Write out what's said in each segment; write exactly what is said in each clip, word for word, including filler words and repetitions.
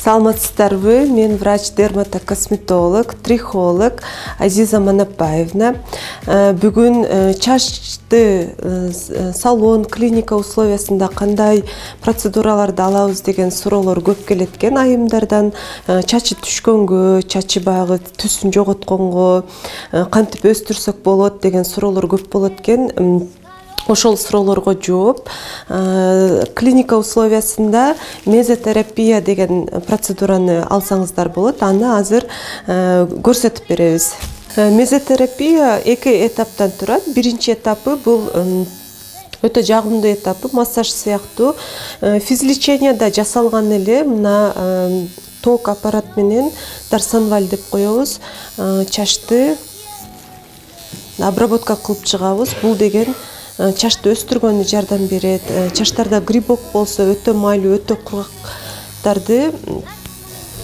Саламатсыздарбы? Мен врач-дерматокосметолог, трихолог Азиза Манапаевна. Бүгүн чачты салон, клиника условиясында кандай процедураларды алабыз деген суроолор көп келет экен айымдардан. Чачы түшкөнгө, чачы багы түсүн жоготконго кантип өстүрсөк болот деген суроолор көп болот экен. Ошол суроолорго жооп, клиника условиясында мезотерапия деген процедураны алсаңыздар болот. Аны азыр көрсөтүп беребиз. Мезотерапия эки этаптан турат. Биринчи этапы бул өтө жагымдуу этапы, массаж сыяктуу. Физлеченияда жасалган эле мына ток аппарат менен дарсонваль деп коебуз. Чачты обработка кылып чыгабыз. Бул деген чачты өстүргөнгө жардам берет. Чачтарда грибок болсо өтө майлуу, өтө кургактарды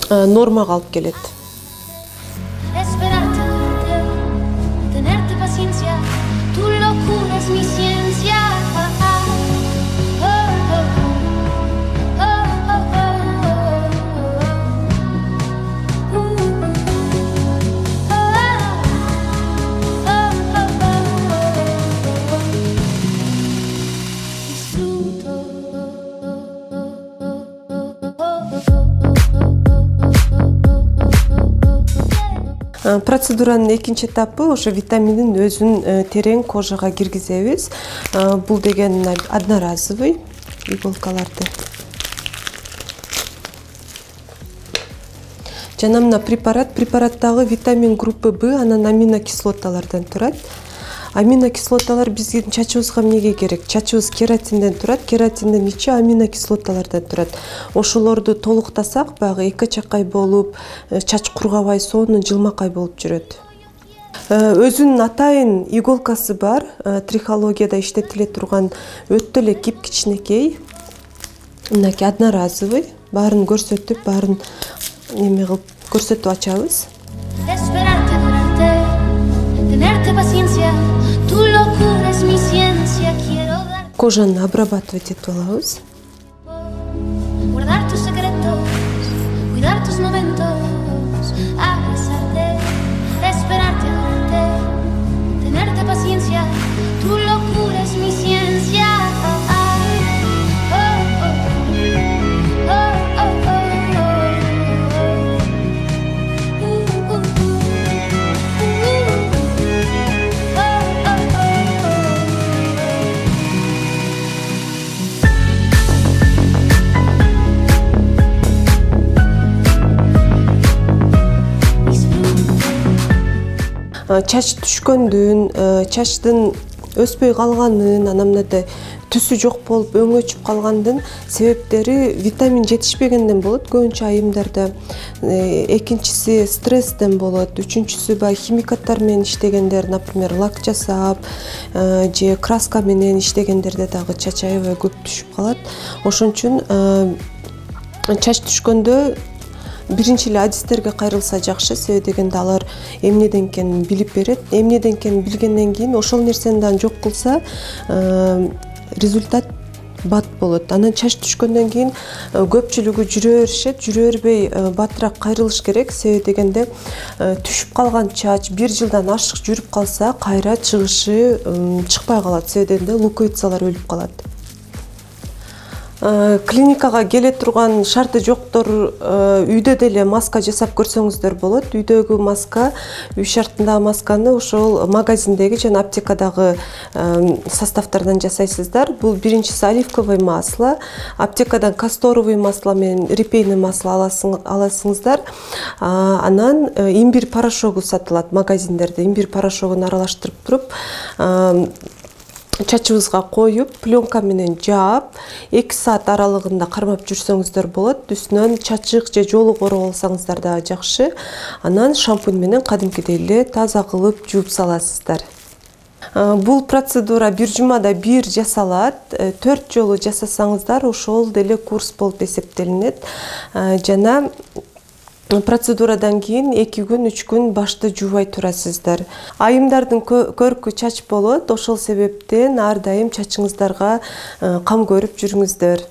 нормага алып келет. Процедуранын экинчи этапы ошо витаминдин өзүн терең кожага киргизебиз. Бул деген одноразовый иголкаларды. Жана мына препарат, препараттагы витамин группы Б, анан аминокислоталардан турат. Аминокислоталар биздин чачыбызга эмнеге керек? Чачыбыз кератинден турат, кератиндин ичи аминокислоталардан турат. Ошолорду толуктасак, баягы эки чакай болуп, чач кургабай, сонун жылмакай болуп жүрөт. Өзүнүн атайын иголкасы бар, трихологияда иштетиле турган өтө эле кип-кичинекей. Мынакей одноразовый, баарын көрсөтүп, баарын эме кылып көрсөтүп ачабыз. Кожаны обрабатывать этип алабыз. Чач түшкөндүн, чачтын өспөй калганын, анан мындай түсү жок болуп өңөчүп калгандын себептери витамин жетишпегенден болот. Көбүнчө айымдарда экинчиси стресстен болот, үчүнчүсү баягы химикаттар менен иштегендер, например, лак жасап же краска менен иштегендерде дагы чач аябай көп түшүп калат. Ошон үчүн чач түшкөндө биринчи эле адистерге кайрылса жакшы, себеби дегенде алар эмнеден экенин билип берет. Эмнеден экенин билгенден кийин ошол нерсени дагы жок кылса, результат бат болот. Анан чач түшкөндөн кийин көпчүлүгү жүрө беришет, жүрө бербей батыраак кайрылыш керек. Себеби дегенде түшүп калган чач бир жылдан ашык жүрүп калса, кайра чыгышы чыкпай калат. Себеби дегенде луковицалар өлүп калат. Клиникага келе турган шарты жоктор үйдө деле маска жасап көрсөңүздөр болот. Үйдөгү маска, үй шартындагы масканы ошол магазиндеги жана аптекадагы составтардан жасайсыздар. Бул биринчиси оливковый масло, аптекадан касторовый масло менен репейный масло аласыңыздар. Анан имбирь порошогу сатылат магазиндерде. Имбирь порошогун аралаштырып туруп чачыбызга коюп, пленка менен жаап, эки саат аралыгында кармап жүрсөңүздөр болот. Үстүнөн чачык же жолу короп алсаңыздар да жакшы. Анан шампунь менен кадимкидей эле таза кылып жууп саласыздар. Бул процедура бир жумада бир жасалат. төрт жолу жасасаңыздар ошол деле курс болуп эсептелинет. Жана процедурадан кийин эки күн, үч күн башты жуубай турасыздар. Айымдардын көркү чач болот, ошол себептен ар дайым чачыңыздарга кам көрүп жүрүңүздөр.